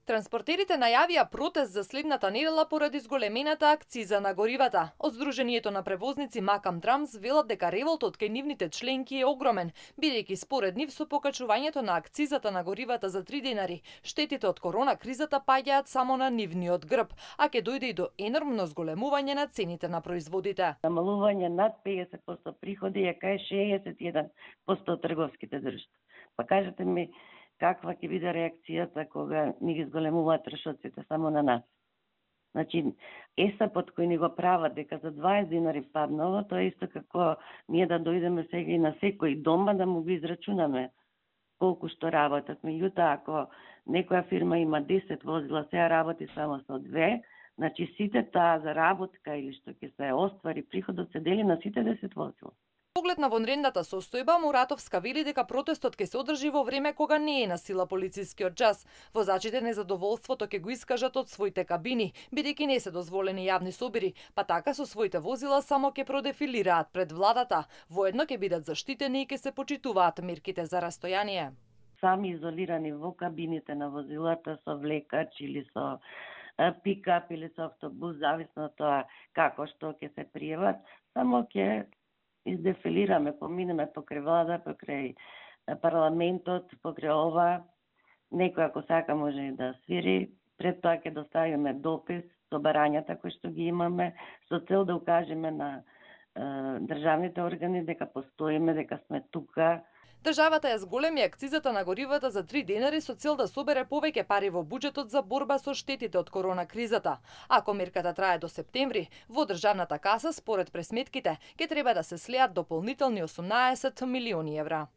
Транспортерите најавија протест за следната недела поради зголемената акциза на горивата. Од Сдруженијето на превозници Макам Трамс велат дека револтот кај нивните членки е огромен, бидејќи според нив со покачувањето на акцизата на горивата за 3 денари, штетите од корона кризата паѓаат само на нивниот грб, а ќе дојде и до енормно зголемување на цените на производите. Намалување над 50% приходи е кај 61% трговските друштва. Па кажете ми, каква ќе биде реакцијата кога ни ги зголемуваат трошоците само на нас? Значи, ЕСАПот кој ни го прават дека за 20 динари паднало, тоа е исто како ние да дојдеме сега и на секој дома да му ги израчунаме колку што работат. Меѓутоа, ако некоја фирма има 10 возила, сега работи само со 2, значи сите таа заработка или што ќе се оствари приходот се дели на сите 10 возила. Поглед на вонредната состојба, Муратовска вели дека протестот ќе се одржи во време кога не е на сила полицискиот час. Возачите незадоволството ќе го искажат од своите кабини, бидејќи не се дозволени јавни собири, па така со своите возила само ќе продефилираат пред владата. Воедно ќе бидат заштитени и ќе се почитуваат мерките за растојание. Сами изолирани во кабините на возилата со влекач или со пикап или со автобус, зависно од тоа како што ќе се пријават, само ќе издефилираме, поминеме покрај влада, покрај парламентот, покрај ова. Некој ако сака може и да свири. Пред тоа ќе доставиме допис со барањата кои што ги имаме, со цел да укажеме на државните органи дека постоиме, дека сме тука. Државата ја зголеми акцизата на горивата за 3 денари со цел да собере повеќе пари во буџетот за борба со штетите од корона кризата. Ако мерката трае до септември, во државната каса, според пресметките, ќе треба да се слеат дополнителни 18 милиони евра.